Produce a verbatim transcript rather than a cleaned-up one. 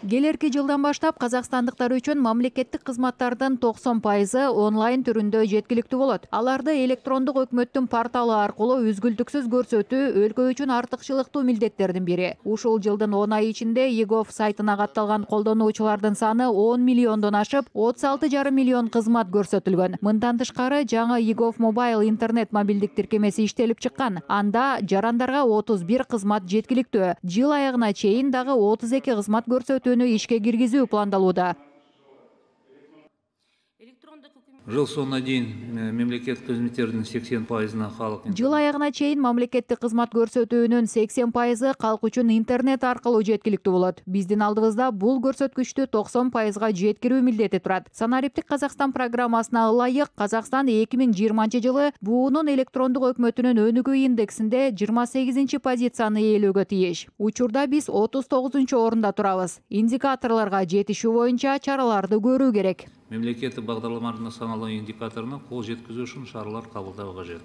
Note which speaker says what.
Speaker 1: Келерки жылдан баштап казакстандыктар үчүн мамлекеттик кызматтардын токсон пайызы онлайн түрүндө жеткиликтүү болот. Аларды электрондук өкмөттүн порталы аркылуу үзгүлтүксүз көрсөтүү өлкө үчүн артыкчылыктуу милдеттердин бири. Ушул жылдын он айы ичинде e-gov сайтына катталган колдонуучулардын саны он миллиондон ашып, отуз алты жарым миллион кызмат көрсөтүлгөн. Мындан тышкары жаңы e-gov Mobile интернет мобилдик тиркемеси иштелип чыккан. Анда жарандарга отуз бир кызмат жеткиликтүү. Жыл аягына чейин дагы отуз эки кызмат көрсөтүү ишке киргизүү пландалууда.
Speaker 2: Жыл соңуна чейин мемлекеттик кызматтердин сексен пайызына халык.
Speaker 1: Жыл аягына чейин мамлекеттик кызмат көрсөтүүнүн сексен пайызы калк үчүн интернет аркылуу жеткиликтүү болот. Биздин алдыбызда бул көрсөткүчтү токсон пайызга жеткирүү милдети турат. Санариптик Казакстан программасына ылайык Казакстан эки миң жыйырманчы жылы буунун электрондук өкмөтүнүн өнүгүү индексинде жыйырма сегизинчи позицияны ээлөөгө тийиш. Учурда биз отуз тогузунчу орунда турабыз. Индикаторлорго жетишүү боюнча чараларды көрүү керек.
Speaker 2: Мемлекеттик багдарламалардын саналуу индикаторуна кол жеткизүү үчүн шаралар кабылдоо кажет.